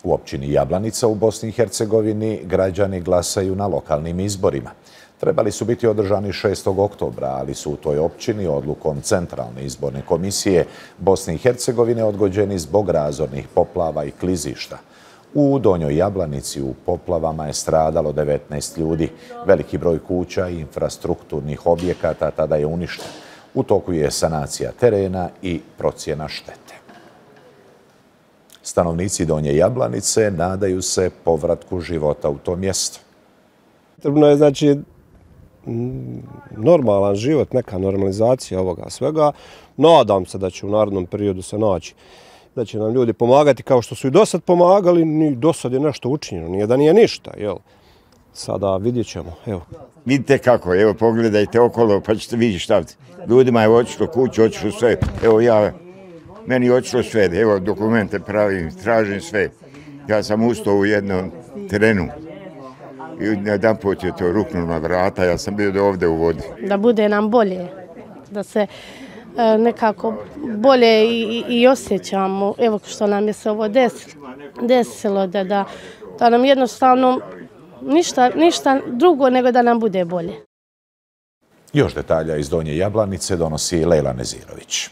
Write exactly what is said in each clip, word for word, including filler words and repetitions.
U općini Jablanica u Bosni i Hercegovini građani glasaju na lokalnim izborima. Trebali su biti održani šestog oktobra, ali su u toj općini odlukom Centralne izborne komisije Bosne i Hercegovine odgođeni zbog razornih poplava i klizišta. U Donjoj Jablanici u poplavama je stradalo devetnaest ljudi. Veliki broj kuća i infrastrukturnih objekata tada je uništen. U toku je sanacija terena i procjena štete. Stanovnici Donje Jablanice nadaju se povratku života u to mjesto. Potrebno je, znači, normalan život, neka normalizacija ovoga svega. Nadam se da će u narednom periodu se naći, da će nam ljudi pomagati kao što su i dosad pomagali, ni dosad je nešto učinjeno, nije da nije ništa, jel? Sada vidjet ćemo, evo. Vidite kako, evo pogledajte okolo pa ćete vidjeti šta. Ljudima je otišlo kuće, otišlo sve, evo ja, meni je otišlo sve, evo dokumente pravim, tražim sve. Ja sam ustao u jednom terenu i jedan put je to ruknulo na vrata, ja sam bio ovdje u vodi. Da bude nam bolje, da se nekako bolje i, i osjećamo, evo što nam je se ovo desilo, desilo da, da, da nam jednostavno ništa, ništa drugo nego da nam bude bolje. Još detalja iz Donje Jablanice donosi Lejla Nezirović.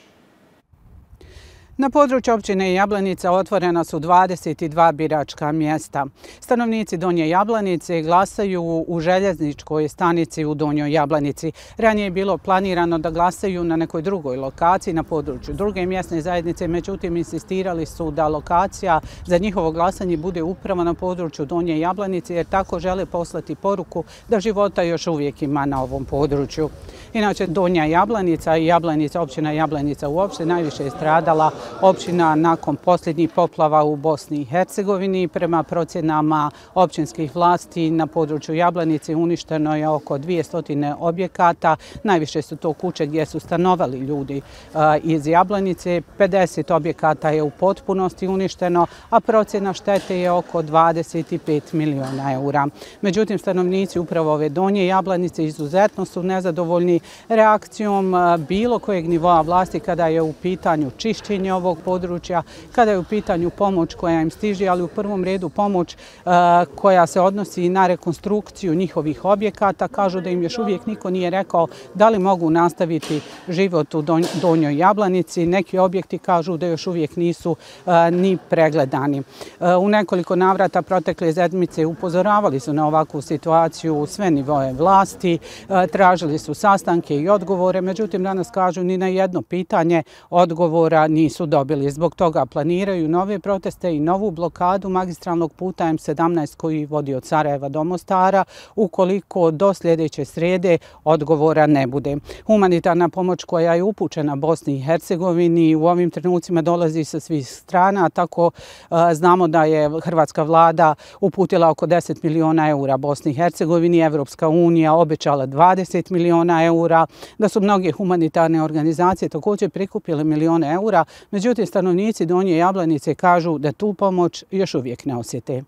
Na području općine Jablanica otvorena su dvadeset dva biračka mjesta. Stanovnici Donje Jablanice glasaju u željezničkoj stanici u Donjoj Jablanici. Ranije je bilo planirano da glasaju na nekoj drugoj lokaciji na području druge mjesne zajednice, međutim insistirali su da lokacija za njihovo glasanje bude upravo na području Donje Jablanice jer tako žele poslati poruku da života još uvijek ima na ovom području. Inače, Donja Jablanica i Jablanica, općina Jablanica uopšte najviše je stradala općina nakon posljednjih poplava u Bosni i Hercegovini. Prema procjenama općinskih vlasti na području Jablanice uništeno je oko dvjesto objekata. Najviše su to kuće gdje su stanovali ljudi iz Jablanice. pedeset objekata je u potpunosti uništeno, a procjena štete je oko dvadeset pet miliona eura. Međutim, stanovnici upravo ove Donje Jablanice izuzetno su nezadovoljni reakcijom bilo kojeg nivoa vlasti kada je u pitanju čišćenje ovog područja, kada je u pitanju pomoć koja im stiže, ali u prvom redu pomoć koja se odnosi na rekonstrukciju njihovih objekata. Kažu da im još uvijek niko nije rekao da li mogu nastaviti život u Donjoj Jablanici. Neki objekti kažu da još uvijek nisu ni pregledani. U nekoliko navrata protekle sedmice upozoravali su na ovakvu situaciju sve nivoe vlasti, tražili su sastanke i odgovore, međutim danas kažu ni na jedno pitanje odgovora nisu dobili. Zbog toga planiraju nove proteste i novu blokadu magistralnog puta M sedamnaest koji vodi od Sarajeva do Mostara ukoliko do sljedeće srijede odgovora ne bude. Humanitarna pomoć koja je upućena Bosni i Hercegovini u ovim trenucima dolazi sa svih strana, tako znamo da je hrvatska vlada uputila oko deset miliona eura Bosni i Hercegovini, Evropska unija obećala dvadeset miliona eura, da su mnoge humanitarne organizacije također prikupile milione eura. Međutim, stanovnici Donje Jablanice kažu da tu pomoć još uvijek ne osjete.